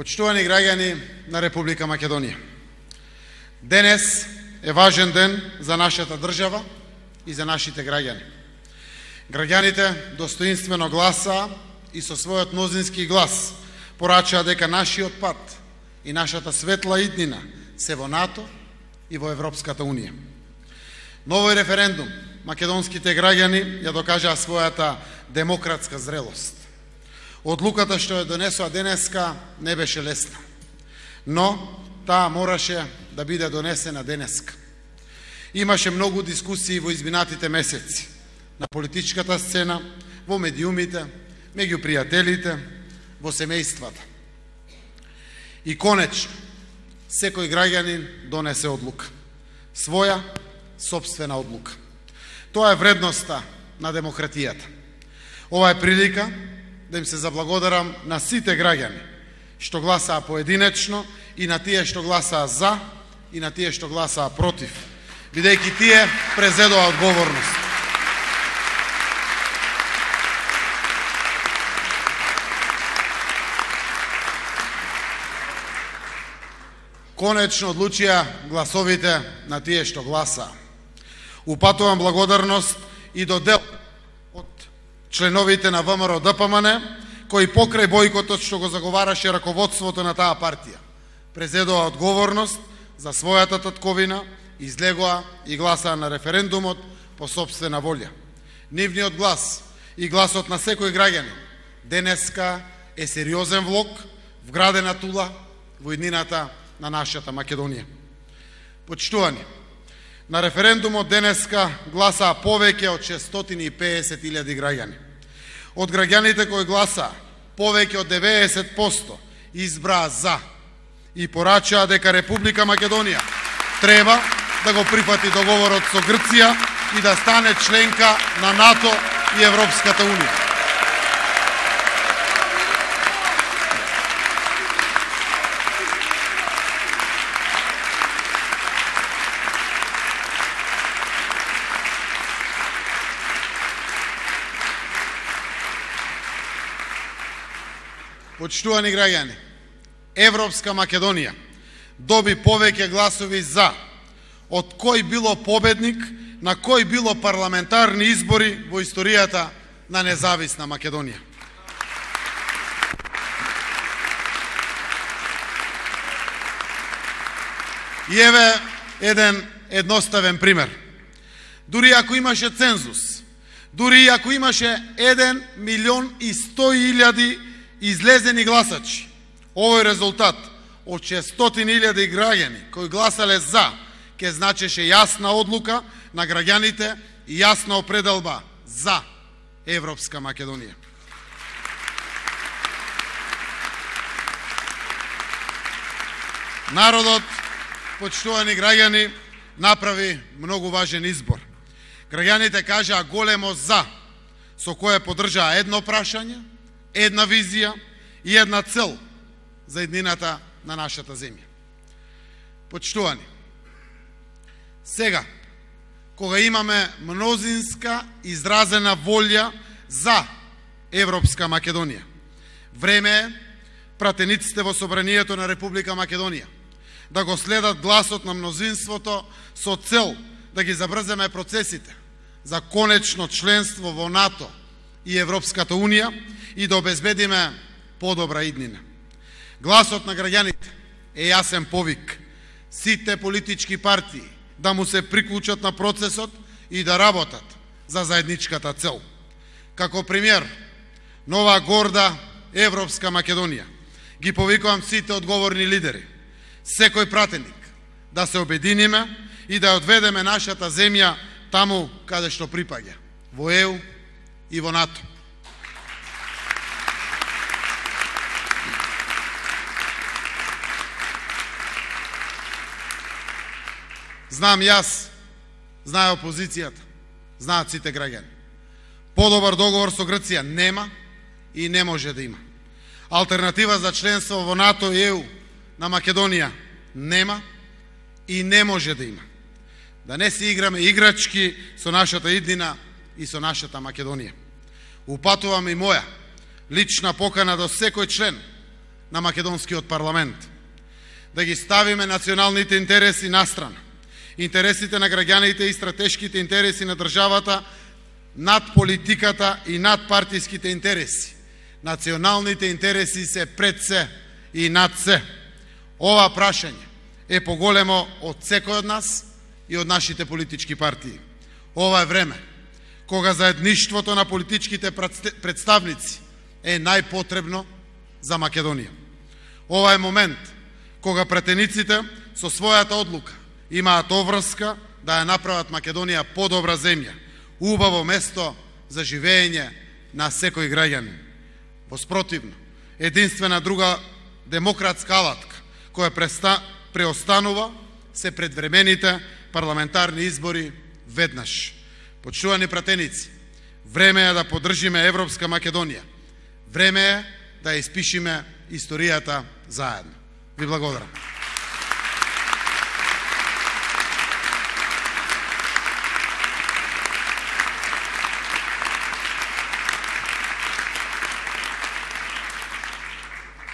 Почитувани граѓани на Република Македонија, денес е важен ден за нашата држава и за нашите граѓани. Граѓаните достоинствено гласаа и со својот мнозински глас порачаа дека нашиот пат и нашата светла иднина се во НАТО и во Европската Унија. На овој референдум македонските граѓани ја докажаа својата демократска зрелост. Одлуката што ја донесоа денеска не беше лесна, но таа мораше да биде донесена денеска. Имаше многу дискусии во изминатите месеци на политичката сцена, во медиумите, меѓу пријателите, во семејствата. И конечно, секој граѓанин донесе одлука, своја сопствена одлука. Тоа е вредноста на демократијата. Ова е прилика да им се заблагодарам на сите граѓани што гласаа поединечно и на тие што гласаа за и на тие што гласаа против, бидејќи тие презедоа одговорност. Конечно одлучија гласовите на тие што гласаа. Упатувам благодарност и до дел од членовите на ВМРО-ДПМН, кои покрај бојкотот што го заговараше раководството на таа партија, презедоа одговорност за својата татковина, излегоа и гласаа на референдумот по сопствена волја. Нивниот глас и гласот на секој граѓанин денеска е сериозен влог, вградена тула во иднината на нашата Македонија. Почитувани, на референдумот денеска гласаа повеќе од 650.000 граѓани. Од граѓаните кои гласаа, повеќе од 90% избраа за и порачаа дека Република Македонија треба да го прифати договорот со Грција и да стане членка на НАТО и Европската Унија. Почитувани граѓани, Европска Македонија доби повеќе гласови за од кој било победник на кој било парламентарни избори во историјата на независна Македонија. И еве еден едноставен пример. Дури ако имаше цензус, дури ако имаше 1.100.000 излезени гласачи, овој резултат од 600.000 граѓани кои гласале за ќе значеше јасна одлука на граѓаните и јасна определба за Европска Македонија. Народот, почитувани граѓани, направи многу важен избор. Граѓаните кажаа големо за, со кое поддржаа едно прашање, една визија и една цел за иднината на нашата земја. Почитувани, сега, кога имаме мнозинска изразена волја за Европска Македонија, време е пратениците во Собранието на Република Македонија да го следат гласот на мнозинството со цел да ги забрземе процесите за конечно членство во НАТО и Европската Унија и да обезбедиме подобра иднина. Гласот на граѓаните е јасен повик сите политички партии да му се приклучат на процесот и да работат за заедничката цел. Како пример, нова горда Европска Македонија, ги повикувам сите одговорни лидери, секој пратеник, да се обединиме и да одведеме нашата земја таму каде што припаѓа, во ЕУ и во НАТО. Знам јас, знае опозицијата, знаат сите граѓани. Подобар договор со Грција нема и не може да има. Алтернатива за членство во НАТО и ЕУ на Македонија нема и не може да има. Да не се играме играчки со нашата иднина и со нашата Македонија. Упатувам и моја лична покана до секој член на македонскиот парламент. Да ги ставиме националните интереси настрана, интересите на граѓаните и стратешките интереси на државата над политиката и над партиските интереси. Националните интереси се пред се и над се. Ова прашање е поголемо од секој од нас и од нашите политички партии. Ова е време кога заедништвото на политичките представници е најпотребно за Македонија. Ова е момент кога претениците со својата одлука имаат обврска да ја направат Македонија подобра земја, убаво место за живење на секој граѓанин. Воспротивно, единствена друга демократска алатка која преостанува се предвремените парламентарни избори веднаш. Почитувани пратеници, време е да поддржиме Европска Македонија. Време е да ја испишиме историјата заедно. Ви благодарам.